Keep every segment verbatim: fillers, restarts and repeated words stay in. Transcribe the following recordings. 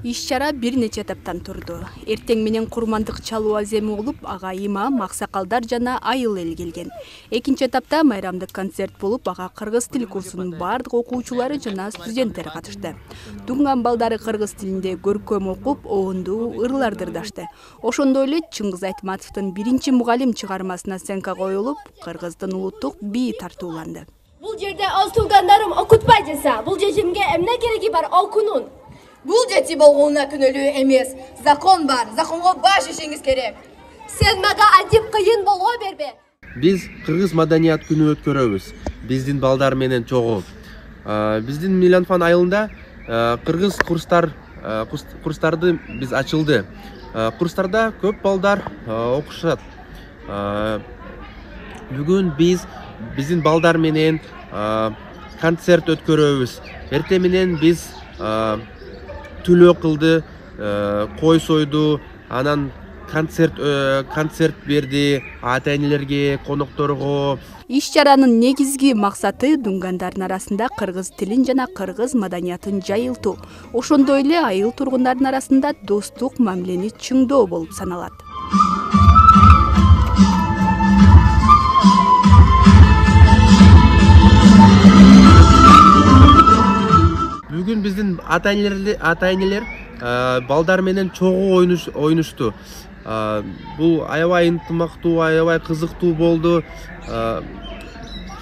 Иш-чара бир нече этаптан турду. Эртең менен курмандык чалуу аземи болуп, ага имам, аксакалдар жана айыл эл келген. Экинчи этапта майрамдык концерт болуп, ага кыргыз тил курсунун бардык окуучулары жана студенттер катышты. Дуңган балдары кыргыз тилинде көркөм окуп, оонду ырларды ырдашты. Ошондой эле Чыңгыз Айтматовдун биринчи мугалим чыгармасына оценка коюлуп, кыргыздын улуттук бии тартууланды. Бул жерде өз туугандарым окутпай жатса, бул жежимге эмне кереги бар окунун? Бул жети болгонуна күнөлүү эмес. Закон бар. Законго баш ишеңиз керек. Сен мага айтып кыйын боло бербе. Биз кыргыз маданият күнү өткөрөбүз. Биздин балдар менен чогуу. Биздин Миланфан айылында кыргыз курстар курстарды биз ачылды. Курстарда көп балдар окушат. Бүгүн биз биздин балдар менен концерт өткөрөбүз. Эртең менен биз түлөө кылды, кой сойду, анан концерт концерт берди ата-энелерге, конокторго. Иш-чаранын негизги максаты дуңгандардын арасында кыргыз тилин жана кыргыз маданиятын жайылтуу. Ошондой эле айыл тургундардын арасында достук мамилени чыңдоо болуп саналат. Бүгүн биздин ата-энелер ата-энелер балдар менен чогуу ойнушту. Бул аябай ынтымактуу, аябай кызыктуу болду.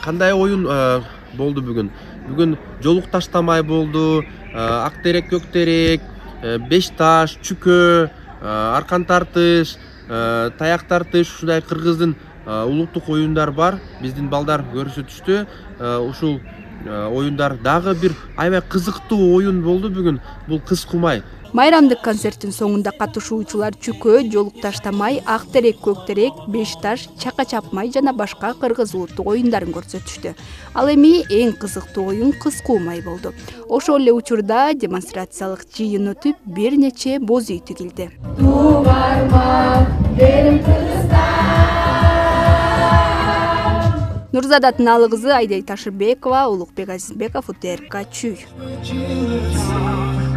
Кандай оюн болду бүгүн? Бүгүн жолук таштамай болду, ак терек, көк терек, беш таш, чүкө, аркан тартыш, таяк тартыш, ушундай кыргыздын улуттук оюндар бар. Биздин балдар көрсөтүштү. Ушул оюндар дагы бир аябай кызыктуу оюн болду бүгүн. Бул кыз кумай. Майрамдык концерттин соңунда катышуучулар чүкө, жолук таштамай, ак терек, көк терек, беш таш, чака чапмай жана башка кыргыз улуттук оюндарын көрсөтүштү. Ал эми эң кызыктуу оюн кыз кумай болду. Ошол эле учурда демонстрациялык жыйын өтүп, бир нече боз үй тигилди. Нурзада Тынаалы кызы Айдай Ташырбекова, Улукбек Азизбеков, УТРК Чүй.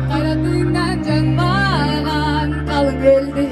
Кайратыңдан жанбаган калың элди